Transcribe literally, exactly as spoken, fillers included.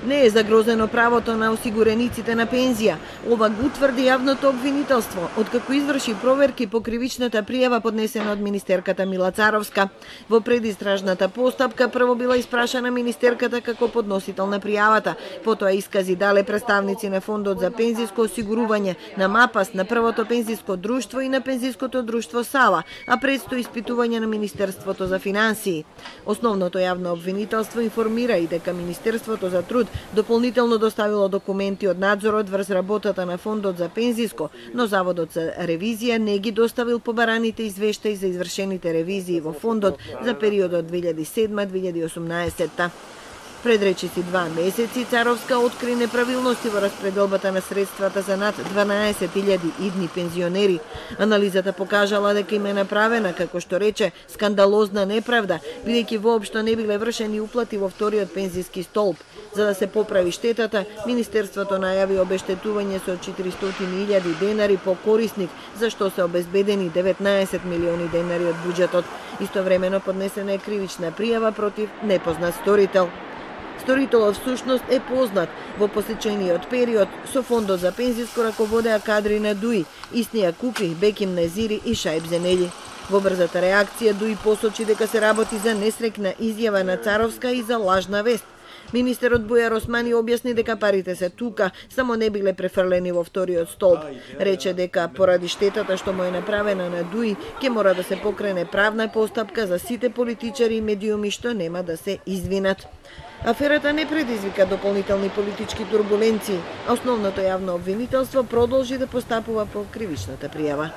Не е загрозено правото на осигурениците на пензија. Ова го утврди јавното обвинителство, откако изврши проверки по кривичната пријава поднесена од министерката Мила Царовска. Во предистражната постапка прво била испрашана министерката како подносител на пријавата, потоа искази дале представници на Фондот за пензиско осигурување, на МАПАС, на Првото пензиско друштво и на Пензиското друштво Сала, а предстои испитување на Министерството за финансии. Основното јавно обвинителство информира и дека Министерството за труд дополнително доставило документи од надзорот врз работата на Фондот за пензиско, но Заводот за ревизија не ги доставил побараните извештаи за извршените ревизии во фондот за периодот две илјади и седма - две илјади и осумнаесетта. Пред речиси два месеци Царовска откри неправилности во распределбата на средствата за над дванаесет илјади идни пензионери. Анализата покажала дека им е направена, како што рече, скандалозна неправда, бидејќи воопшто не биле вршени уплати во вториот пензиски столб. За да се поправи штетата, Министерството најави обештетување со четиристотини илјади денари по корисник, за што се обезбедени деветнаесет милиони денари од буџетот. Истовремено поднесена е кривична пријава против непознат сторител. Сторителот всушност е познат. Во посечениот период со Фондот за пензиско раководеа кадри на ДУИ, Иснија Купи, Беким Незири и Шајб Зенели. Во брзата реакција ДУИ посочи дека се работи за несрекна изјава на Царовска и за лажна вест. Министерот Бујар Османи објасни дека парите се тука, само не биле префрлени во вториот столб. Рече дека поради штетата што му е направена на ДУИ, ќе мора да се покрене правна постапка за сите политичари и медиуми што нема да се извинат. Аферата не предизвика дополнителни политички турбуленции, а основното јавно обвинителство продолжи да постапува по кривичната пријава.